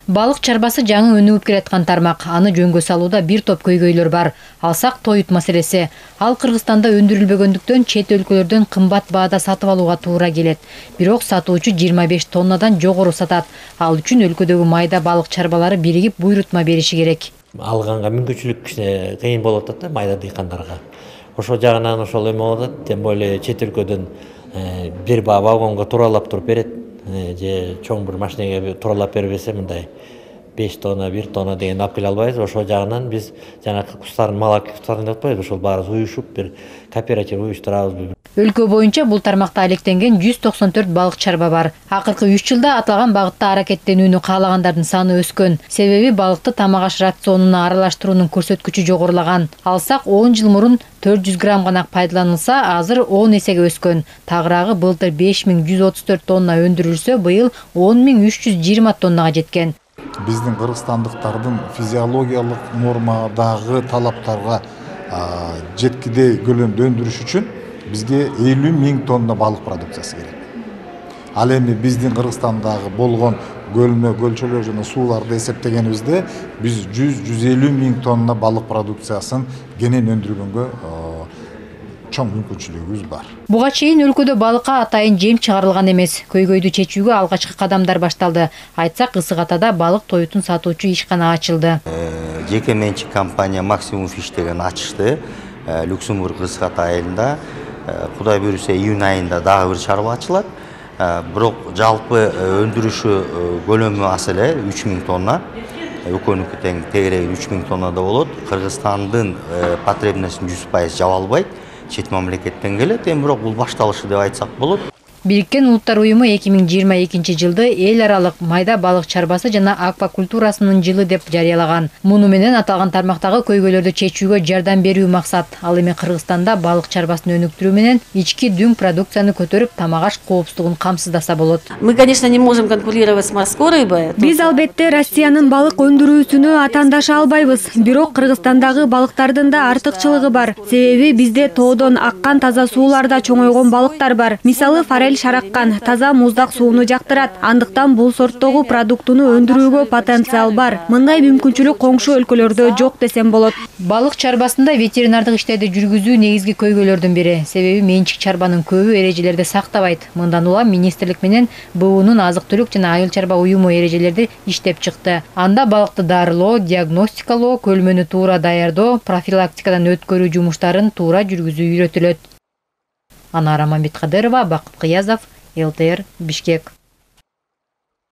Балык чарбасы жаңы өнүгүп келаткан тармак. Аны жөнгө салууда бир топ көйгөйлөр бар. Алсак тоют маселеси. Ал Кыргызстанда өндүрүлбөгөндүктөн чет өлкөлөрдөн кымбат баада сатып алууга туура келет. Бирок сатуучу 25 тоннадан жогору сатат. Ал үчүн өлкөдөгү майда балык чарбалары биригип буйрутма бериши керек. Алганга мүмкүнчүлүк кыйын болуп атат да майда дыйкандарга. Ошол жагынан ошол эме болуп атат. Тем более чет өлкөдөн бир вагонго туралап туруп берет. Же чоң бир машинеге туралап бербесе мындай 5 тонна, 1 тонна деген алып келе албайбыз. Ошол жагынан биз жана кустардын малак кустарын деп атпайбыз, ошол баарыбыз уюшуп бир кооператив уюштурабыз. Өлкө боюнча бул тармакта алектенген 194 балык чарба бар. Акыркы 3 жылда аталган багытта аракеттенүүнү каалагандардын саны өскөн. Себеби балыкты тамак аш рационуна аралаштыруунун көрсөткүчү жогорулаган. Алсак 10 жыл мурун 400 грамм гана пайдаланылса, азыр 10 эсеге өскөн. Тагыраагы былтыр 5134 тонна өндүрүлсө, быйыл 10320 тоннага жеткен. Биздин кыргызстандыктардын физиологиялык нормадагы талаптарга жеткидей көлөмдө өндүрүш үчүн бизге 50 000 тонна балык продукциясы керек. Ал эми биздин Кыргызстандагы болгон көлмө, көлчөлөр жана сууларды эсептегенибизде биз 100-150 000 тонна балык продукциясын кенен өндүргөнгө чоң мүмкүнчүлүгүбүз бар. Буга чейин өлкөдө балыкка атайын жем чыгарылган эмес. Көйгөйдү чечүүгө алгачкы кадамдар башталды. Айтсак, Ысык Атада балык тоютун сатуучу ишкана ачылды. Жеке менчик компания Максимум Фиш деген ачышты. Люксембург Ысык Ата айылында. Кудай буйруса июнь айында дагы бир чарба ачылат. Бирок жалпы өндүрүшү көлөмү аз эле 3000 тонна. Экөөнүкү тең тегереги 3000 тоннада болот. Кыргызстандын потребностун 100% жаба албайт. Чет мамлекеттен келет, бирок бул башталышы деп айтсак болот. Бириккен Улуттар уюму 2022 жылды эл аралык майда балык чарбасы жана аквакультурасынын жылы деп жарыялаган. Муну менен аталган тармактагы көйгөйлөрдү чечүүгө жардам берүү максат. Ал эми Кыргызстанда балык чарбасын өнүктүрүү менен ички дүң продукцияны көтөрүп, тамак аш коопсуздугун камсыздаса болот. Мы, конечно, не можем конкурировать с морской рыбой. Биз албетте Россиянын балык өндүрүүсүнө атаандаша албайбыз. Бирок Кыргызстандагы балыктардын да артыкчылыгы бар. Себеби бизде тоодон аккан таза сууларда чоңойгон балыктар бар. Мисалы, форель шараккан, таза муздак сууну жактырат. Андыктан бул сорттогу продуктуну өндүрүүгө потенциал бар. Мындай мүмкүнчүлүк коңшу өлкөлөрдө жок десем болот. Балык чарбасында ветеринардык иштерди жүргүзүү негизги көйгөйлөрдүн бири. Себеби менчик чарбанын көбү эрежелерди сактабайт. Мындан улам министрлик менен БУнун азык-түлүк жана айыл чарба уюму эрежелерди иштеп чыкты. Анда балыкты дарылоо, диагностикалоо, көлмөнү туура даярдоо, профилактикадан өткөрүү жумуштарын туура жүргүзүү үйрөтүлөт. Анара Мамбеткадырова, Бакыт Кыязов, ЛТР, Бишкек.